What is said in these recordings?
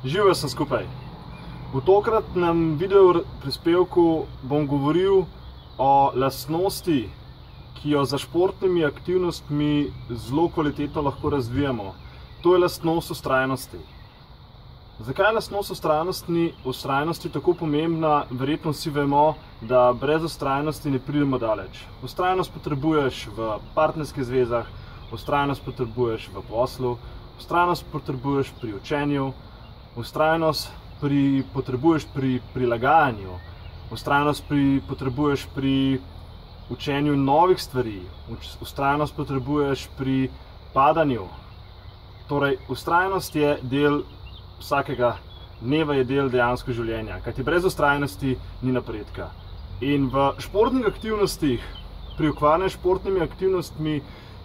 Živijo sem skupaj. V tokratnem video prispevku bom govoril o lastnosti, ki jo za športnimi aktivnostmi zelo kvalitetno lahko razvijamo. To je lastnost vztrajnosti. Zakaj je lastnost vztrajnosti tako pomembna? Verjetno vsi vemo, da brez vztrajnosti ne pridemo daleč. Vztrajnost potrebuješ v partnerskih zvezah, vztrajnost potrebuješ v poslu, vztrajnost potrebuješ pri učenju, vztrajnost potrebuješ pri prilagajanju, vztrajnost potrebuješ pri učenju novih stvari, vztrajnost potrebuješ pri padanju. Torej, vztrajnost je del vsakega dneva, je del dejansko življenja, kajti brez vztrajnosti ni napredka. In v športnih aktivnostih, pri ukvarjanju s športnimi aktivnostmi,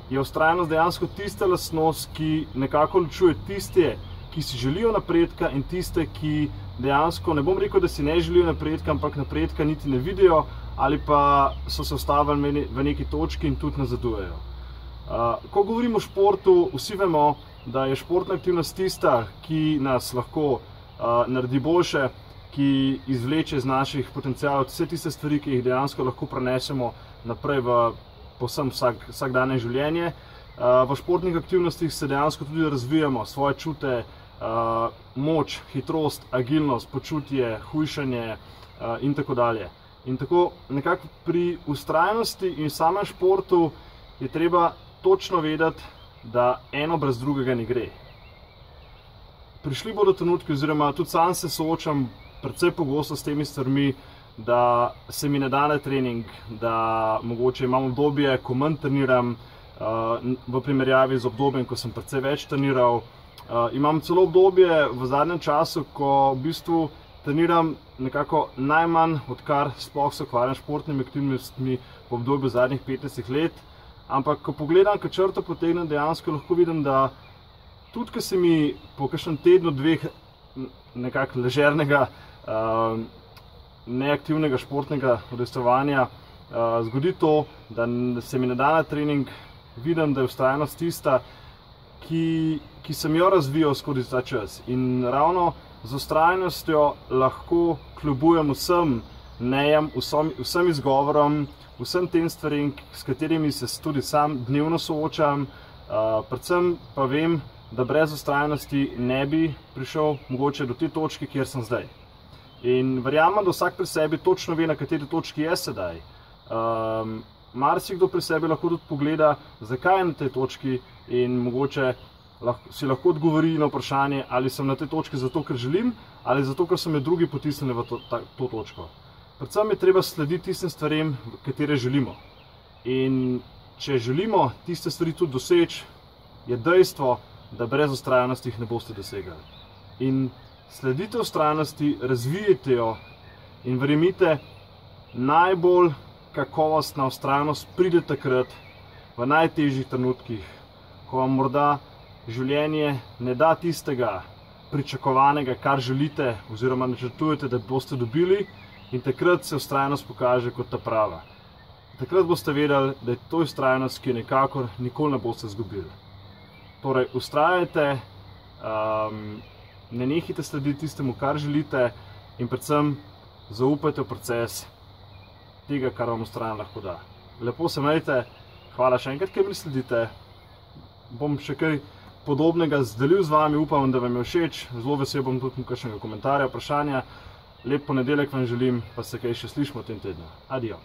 je vztrajnost dejansko tista lastnost, ki nekako ločuje tiste, ki si želijo napredka, in tiste, ki dejansko, ne bom rekel, da si ne želijo napredka, ampak napredka niti ne vidijo ali pa so se ustavili v neki točki in tudi nazadujejo. Ko govorimo o športu, vsi vemo, da je športna aktivnost tista, ki nas lahko naredi boljše, ki izvleče iz naših potencialov vse tiste stvari, ki jih dejansko lahko prenesemo naprej v povsem vsakdanje življenje. V športnih aktivnostih se dejansko tudi razvijamo svoje čute, moč, hitrost, agilnost, počutje, hujšanje in tako dalje. In tako nekako pri vztrajnosti in samem športu je treba točno vedeti, da eno brez drugega ne gre. Prišli bodo trenutki, oziroma tudi sam se soočam precej pogosto s temi stvarmi, da se mi ne da na trening, da mogoče imam obdobje, ko manj treniram, v primerjavi z obdobjem, ko sem precej več treniral. Imam celo obdobje v zadnjem času, ko v bistvu treniram nekako najmanj, odkar sploh se ukvarjam s športnimi aktivnostmi v obdobju zadnjih 15 let. Ampak ko pogledam, ko črto potegnem, dejansko lahko vidim, da tudi, ko se mi po kakšnem tednu, dveh nekako ležernega, neaktivnega športnega udejstvovanja zgodi to, da se mi ne da na trening, vidim, da je vztrajnost tista, ki sem jo razvijal skozi ta čas. In ravno z vztrajnostjo lahko kljubujem vsem nejam, vsem izgovorom, vsem tem stvarem, s katerimi se tudi sam dnevno soočam. Predvsem pa vem, da brez vztrajnosti ne bi prišel mogoče do te točke, kjer sem zdaj. In verjamem, da vsak pri sebi točno ve, na kateri točki je sedaj. Marsikdo pri sebi lahko tudi pogleda, zakaj je na tej točki, in mogoče si lahko odgovori na vprašanje, ali sem na tej točki zato, ker želim, ali zato, ker so me drugi potisnili v to točko. Predvsem je treba slediti tistim stvarem, katere želimo. In če želimo tiste stvari tudi doseči, je dejstvo, da brez vztrajnosti jih ne boste dosegali. In sledite vztrajnosti, razvijajte jo in verjemite, najbolj kakovostna vztrajnost pride takrat, v najtežjih trenutkih, ko vam morda življenje ne da tistega pričakovanega, kar želite oziroma načrtujete, da boste dobili, in takrat se vztrajnost pokaže kot ta prava. Takrat boste vedeli, da je to vztrajnost, ki nekako nikoli ne boste izgubili. Torej, vztrajajte, ne nehajte slediti tistemu, kar želite, in predvsem zaupajte v proces tega, kar vam vztrajanje lahko da. Lepo se imejte, hvala še enkrat, ker mi sledite. Bom še kaj podobnega delil z vami, upam, da vam je všeč. Zelo vesel bom tudi kakšnega komentarja, vprašanja. Lep ponedeljek vam želim, pa se kaj še slišimo v tem tednu. Adijo.